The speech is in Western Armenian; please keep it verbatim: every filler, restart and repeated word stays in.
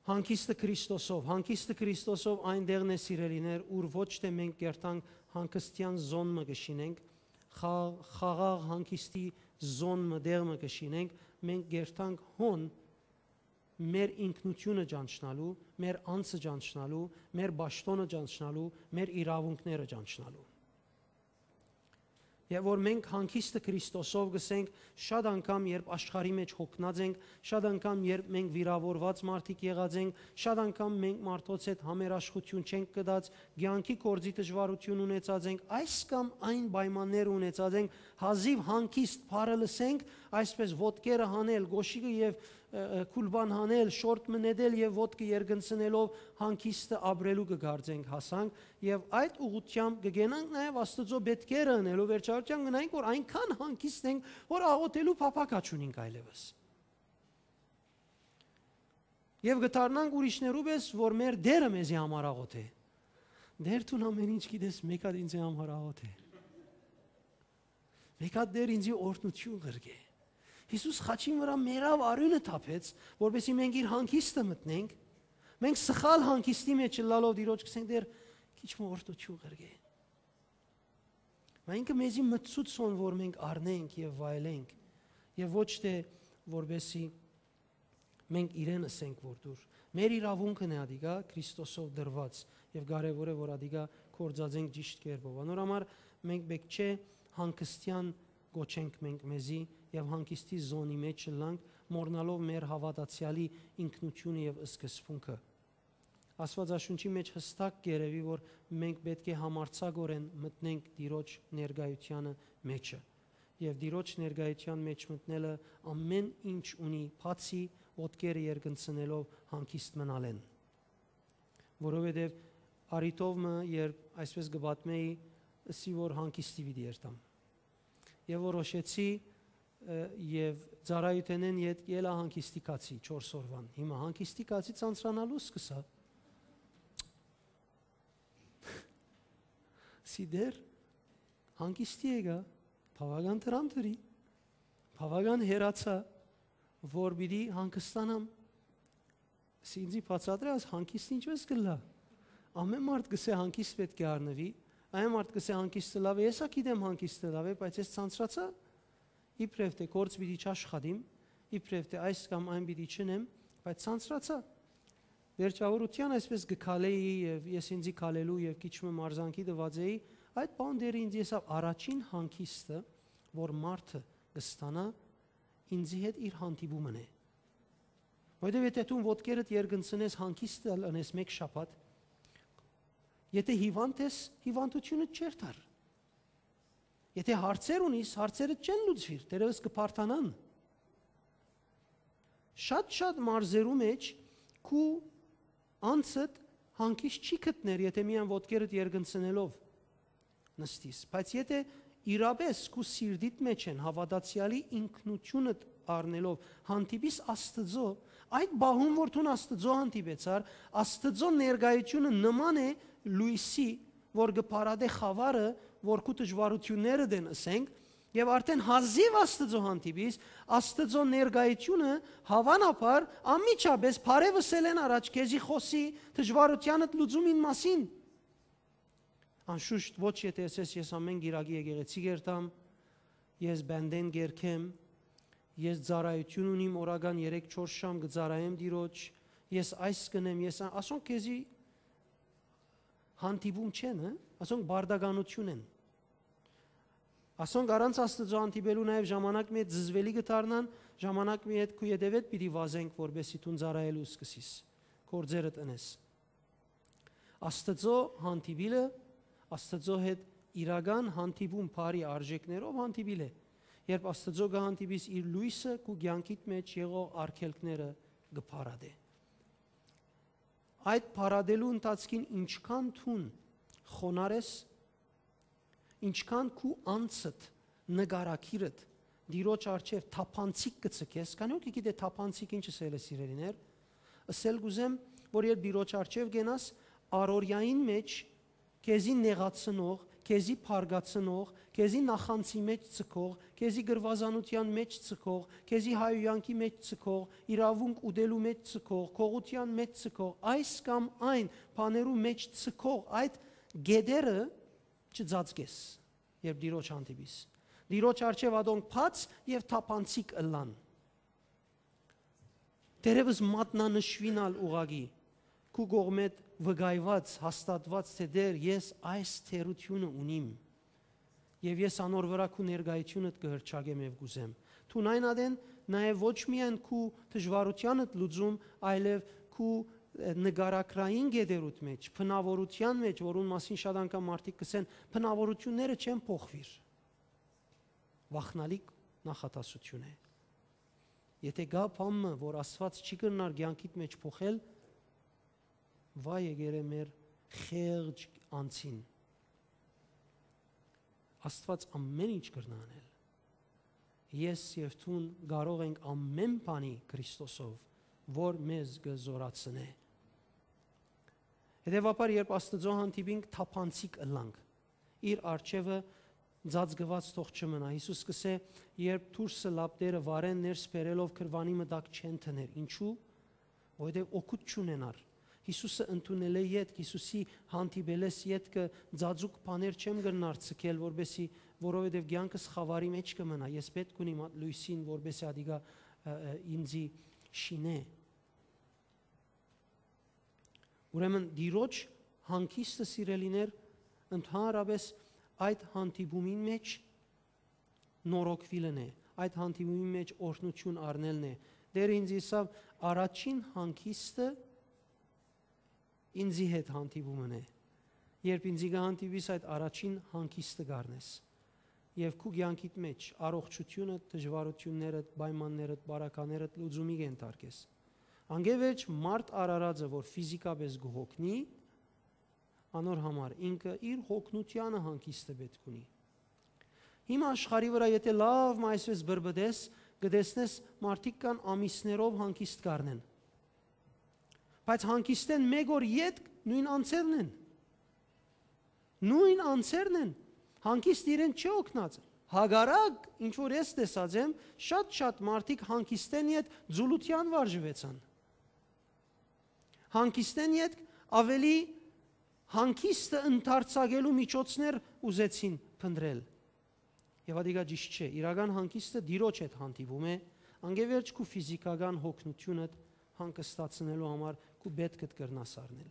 Հանգիստը Քրիստոսով, հանգիստը Քրիստոսով այն տեղն է, սիրելիներ, ուր ոչ թէ մենք կերտանք հանգստեան զոն մը կը շինենք, խաղ-, խաղաղ հանգիստի զոն մը, տեղ մը կը շինենք, մենք կերտանք հոն մեր ինքնութիւնը ճանչնալու, մեր անձը ճանչնալու, մեր պաշտօնը ճանչնալու, մեր իրաւունքները ճանչնալու։ Եւ որ մենք հանգիստը Քրիստոսով գսենք, շատ անգամ, երբ աշխարհի մէջ հոգնած ենք, շատ անգամ, երբ մենք վիրաւորուած մարդիկ եղած ենք, շատ անգամ մենք մարդոց հետ համերաշխութիւն չենք կդած, կեանքի գործի դժուարութիւն ունեցած ենք, այս կամ այն պայմաններ ունեցած ենք, հազիւ հանգիստ բառը լսենք, այսպես ոտքերը հանել, գոշիկը եւ, ը, ը, գուլպան հանել, շորտ մը նետել եւ ոտքը երկնցնելով հանգիստը ապրելու կը կարծենք հասանք, եւ այդ ուղղությամբ կը գնանք նաեւ Աստուծոյ պէտքերը ընելու, վերջարարութեան կը նայենք, որ այնքան հանգիստ ենք, որ աղօթելու փափաք չունինք այլեւս։ Եւ կը դառնանք ուրիշներու պէս, որ մեր Տէրը մեզի համար աղօթէ։ «Տէր, դուն ամէն ինչ գիտես, մէկ հատ ինծի համար աղօթէ։ Մէկ հատ, Տէր, ինծի օրհնութիւն ղրկէ»։ Յիսուս խաչին վրայ մեռաւ, արիւնը թափեց, որպեսզի մենք իր հանգիստը մտնենք։ Մենք սխալ հանգիստի մէջ ըլլալով Տիրոջ կ'ըսենք. «Տէր, քիչ մը օրհնութիւն ղրկէ»։ Մա ինքը մեզի մտցուց հոն, որ մենք առնենք եւ վայելենք, եւ ոչ թէ որպեսզի մենք իրեն ըսենք, որ դուր։ Մեր իրաւունքն է ատիկա Քրիստոսով տրուած, եւ կարեւոր է, որ ատիկա գործածենք ճիշդ կերպով։ Անոր համար մենք պէտք չէ հանգստեան կոչենք մենք մեզի եւ հանգիստի զոնի մէջ ըլլանք, մոռնալով մեր հաւատացեալի ինքնութիւնը եւ սկզբունքը։ Աստուածաշունչի մէջ յստակ կ'երեւի, որ մենք պէտք է համարձակօրէն մտնենք Տիրոջ ներկայութեանը մէջը։ Եւ Տիրոջ ներկայութեան մէջ մտնելը ամէն ինչ ունի, բացի ոտքերը երկնցնելով հանգիստ մնալէն։ Որովհետեւ առիթով մը, երբ այսպես կը պատմէի, ըսի որ հանգիստի պիտի երթամ։ Եւ որոշեցի, ը, եւ ծառայութենէն ետք ելա հանգիստի գացի չորս օրուան։ Հիմա հանգիստի գացի, ցանցրանալու սկսա։ Սի դեռ հանգիստի եկայ, բաւական դրամ դրի, բաւական հեռացայ, որ պիտի հանգստանամ։ Սի ինձի բացատրե, աս հանգիստ ինչպէս կ'ըլլայ։ Ամէն մարդ կ'ըսէ հանգիստ պէտք է առնուի, այն մարդ կ'ըսէ հանգիստը լաւ է, ես ա գիտեմ հանգիստը լաւ է, բայց ես ցանցրացայ, իբրեւ թէ գործ պիտի չաշխատիմ, իբրեւ թէ այս կամ այն պիտի չընեմ, բայց ցանցրացայ։ Վերջաւորութեան այսպես կը քալէի եւ ես ինձի քալելու եւ քիչ մը մարզանքի տուած էի, այդ բան դեռ ինձ եսաւ առաջին հանգիստը, որ մարդը կ'ստանայ ինձի հետ իր հանդիպումն է։ Որովհետեւ եթէ դուն ոտքերդ երկնցնես, հանգիստ ալ ընես մէկ շաբաթ, եթէ հիվանդ ես, հիվանդութիւնդ չ'երթար։ Եթէ հարցեր ունիս, հարցերդ չեն լուծուիր, դեռեւս կը բարդանան։ Շատ-շատ մարզերու մէջ քու անձդ հանգիստ չի գտներ, եթէ միայն ոտքերդ երկնցնելով նստիս։ Բայց եթէ իրապէս քու սիրտիդ մէջ են հաւատացեալի ինքնութիւնդ առնելով հանդիպիս Աստծոյ, այդ պահուն որ դուն Աստծոյ հանդիպեցար, Աստծոյ ներկայութիւնը նման է լոյսի, որ կը փարատէ խաւարը, որ քու դժուարութիւններդ են, ըսենք, եւ արդէն հազիւ Աստծոյ հանդիպիս, Աստծոյ ներկայութիւնը, հաւանաբար, անմիջապէս բարեւ ըսելէն առաջ քեզի խօսի դժուարութեանդ լուծումին մասին։ Անշուշտ ոչ, եթէ ըսես, ես ամէն կիրակի եկեղեցի կ'երթամ, ես բանտէն կ'երգեմ, ես ծառայութիւն ունիմ, օրական երեք չորս ժամ կը ծառայեմ Տիրոջ, ես այս կ'ընեմ, ես ա-, ասոնք քեզի հանդիպում չեն, հը? Ասոնք պարտականութիւն են։ Ասոնք առանց Աստուծոյ հանդիպելու նաեւ ժամանակ մի հետ զզվելի կը դառնան, ժամանակ մի հետ քու ետեւեդ պիտի վազենք, որպեսզի դուն ծառայելու սկսիս, գործերդ ընես։ Աստուծոյ հանդիպիլը, Աստուծոյ հետ իրական հանդիպում, բարի արժեքներով հանդիպիլ է։ Երբ Աստուծոյ կը հանդիպիս, իր լոյսը քու կեանքիդ մէջ եղող արգելքները կը փարատէ։ Այդ փարատելու ընթացքին ինչքան դուն խոնար ես, ինչքան քու անձդ, նկարագիրդ Տիրոջ առջեւ թափանցիկ կը ձգես, քանի որ գիտե թափանցիկ ինչ ըսել է, սիրելիներ, ըսել կ'ուզեմ, որ երբ Տիրոջ առջեւ կենաս, առօրեային մէջ քեզի նեղացնող, քեզի փառկացնող, քեզի նախանձի մէջ ձգող, քեզի գրուազանութեան մէջ ձգող, քեզի հայհոյանքի մէջ ձգող, իրաւունք ուտելու մէջ ձգող, գողութեան մէջ ձգող, այս կամ այն բաներու մէջ ձգող այդ գետերը չծածկես, երբ Տիրոջ հանդիպիս։ Տիրոջ առջեւ ատոնք բաց եւ թափանցիկ ըլլան։ Դերևս մատնանշուին ալ ուղղակի քու կողմէդ վկայուած, հաստատուած, թէ Տէր, ես այս թերութիւնը ունիմ եւ ես անոր վրայ քու ներկայութիւնդ կը հռչակեմ եւ կ'ուզեմ։ Դուն այն ատեն նաեւ ոչ միայն քու դժուարութեանդ լուծում, այլեւ քու, ը, նկարագրային գետերուդ մէջ, բնաւորութեան մէջ, որուն մասին շատ անգամ մարդիկ կ'ըսեն, բնաւորութիւնները չեն փոխուիր։ Վախնալի նախադասութիւն է։ Եթէ կայ բան մը, որ Աստուած չի կրնար կեանքիդ մէջ փոխել, վայ եկերէ մեր խեղճ անձին։ Աստուած ամէն ինչ կրնայ անել։ Ես եւ դուն կարող ենք ամէն բանի Քրիստոսով, որ մեզ կը զօրացնէ։ Հետեւաբար, երբ Աստուծոյ հանդիպինք, թափանցիկ ըլլանք։ Իր առջեւը ծածկուած թող չմնայ։ Յիսուս կ'ըսէ, երբ դուրսը լապտերը վառեն, ներս բերելով գրուանի մը տակ չեն դներ։ Ինչու՞։ Որովհետեւ օգուտ չունենար։ Յիսուսը ընդունելէ ետք, Յիսուսի հանդիպելէս ետքը ծածուկ բաներ չեմ կրնար ձգել, որպեսզի, որովհետեւ կեանքս խաւարի մէջ կը մնայ։ Ես պէտք ունիմ այդ լոյսին, որպեսզի ադիկա, ը, ը, ինձի շինէ։ Ուրեմն Տիրոջ հանգիստը, սիրելիներ, ընդհանրապէս այդ հանդիպումին մէջ նորոգուիլն է, այդ հանդիպումին մէջ օրհնութիւն առնելն է։ Տէրը ինձ ըսաւ, առաջին հանգիստը ինձի հետ հանդիպումն է։ Երբ ինձի կը հանդիպիս, այդ առաջին հանգիստը կ'առնես։ Եւ քու կեանքիդ մէջ առողջութիւնը, դժուարութիւնները, պայմանները, պարագաները լուծումի կ'ենթարկես։ Անկէ վերջ մարդ արարածը, որ ֆիզիկապէս կը հոգնի, անոր համար ինքը իր հոգնութեանը հանգիստը պէտք ունի։ Հիմա աշխարհի վրայ եթէ լաւ մը այսպէս բրբտես, կը տեսնես մարդիկ կան ամիսներով հանգիստ կ'առնեն։ Բայց հանգիստէն մէկ օր ետք նոյն անձերն են։ Նոյն անձերն են։ Հանգիստ իրեն չի օգնած։ Հակառակ, ինչ որ ես տեսած եմ, շատ-շատ մարդիկ հանգիստէն յետ ձուլութեան վարժուեցան։ Հանգիստէն ետք աւելի հանգիստը ընդարձակելու միջոցներ ուզեցին փնտռել։ Եւ ատիկա ճիշտ չէ։ Իրական հանգիստը Տիրոջ հետ հանդիպում է, անկէ վերջ քու ֆիզիկական հոգնութիւնդ հանգստացնելու համար քու պէտքդ կրնաս առնել։